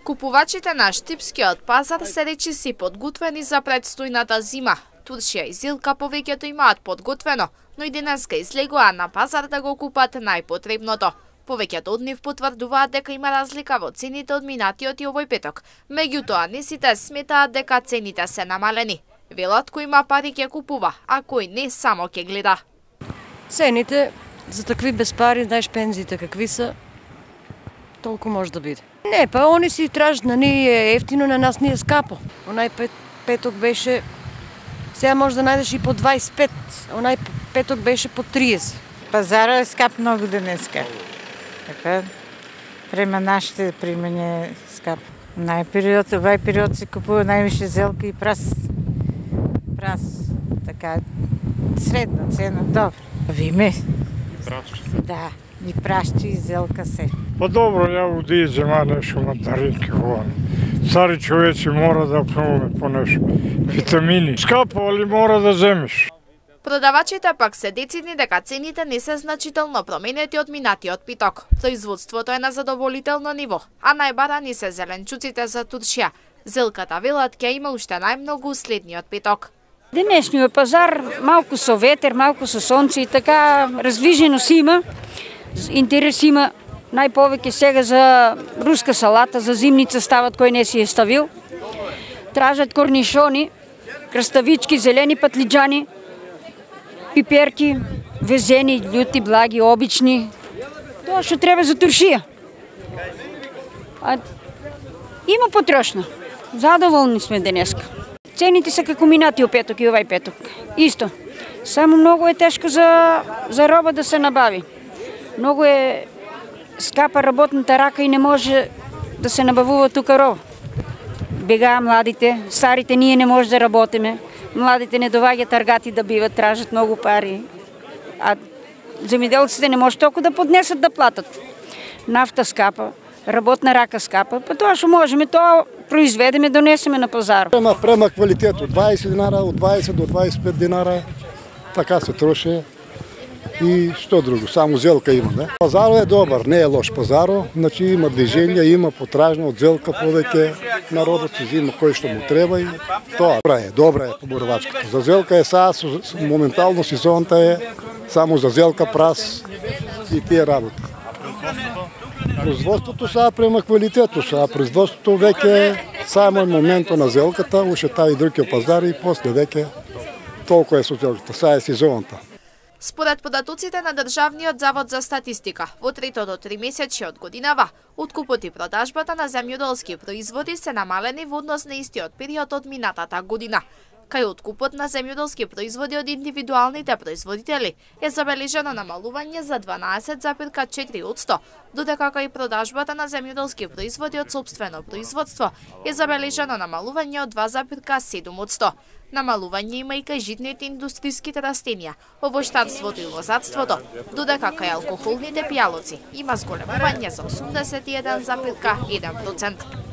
Купувачите на Штипскиот пазар се речиси подготвени за предстојната зима. Туршија и Зилка повеќето имаат подготвено, но и денеска излегоа на пазар да го купат најпотребното. Повеќето од нив потврдуваат дека има разлика во цените од минатиот и овој петок. Меѓутоа, не сите сметаат дека цените се намалени. Велат кој има пари ќе купува, а кој не само ќе гледа. Цените за такви без пари, знаеш пензиите какви се, толку може да биде. Не, па они си тражат, на ние е ефтино, на нас ни е скапо. Онај петок беше, сега може да најдеш и по 25, онај петок беше по 30. Пазара е скап многу денеска. Така, према нашите примање е скап. Овај период се купува највише зелка и прас. Така, средна цена, добро. Виме? Да, и прашче и зелка се. Па добро, ја уди зема нешто мандаринки вон. Цари човечи мора да пробаме по нешто. Витамини. Скапо, али мора да земеш. Продавачите пак се децидни дека цените не се значително променети од минатиот петок. Производството е на задоволително ниво, а најбарани се зеленчуците за Туршија. Зелката велат ќе има уште најмногу следниот петок. Денешниот пазар малку со ветер, малку со сонце и така раздвижено си има. Интерес има најповеќе сега за руска салата, за зимница стават кој не си е ставил. Тражат корнишони, краставички, зелени патлиџани, пиперки, везени, љути, благи, обични. Тоа што треба за Туршија. Има потрошно. Задоволни сме денеска. Цените се како минатиот петок и овај петок. Исто. Само многу е тешко за роба да се набави. Многу е скапа работната рака и не може да се набавува тука роба. Бегаа младите, старите ние не може да работиме. Младите не доваѓаат таргати да биват, тражат многу пари. А земјоделците не може толку да поднесат да платат. Нафта скапа, работна рака скапа, па тоа што можеме, тоа произведеме, донесеме на пазар. Према квалитет од 20 динара, од 20 до 25 динара, така се троши. И што друго, само зелка има, не? Пазарот е добар, не е лош пазарот, значи има движење, има потражна од зелка повеќе, народот се взима кој што му треба и тоа добра е поборовачката. За зелка е сега, моментално сезонта е само за зелка, прас и тие работи. Производството сега према квалитето, сега производството веќе само е моментот на зелката, уште таа и другиот пазар и после веќе толку е со зелката, сега е сезонта. Според податоците на Државниот завод за статистика, во третото тримесечје од годинава, откупот и продажбата на земјоделски производи се намалени во однос на истиот период од минатата година. Кај откупот на земјоделски производи од индивидуалните производители е забележано намалување за 12,4%, додека кај продажбата на земјоделски производи од сопствено производство е забележано намалување од 2,7%. Намалување има и кај житните индустријските растенија, овоштарството и лозарството, додека кај алкохолните пијалоци има зголемување за 81,1%.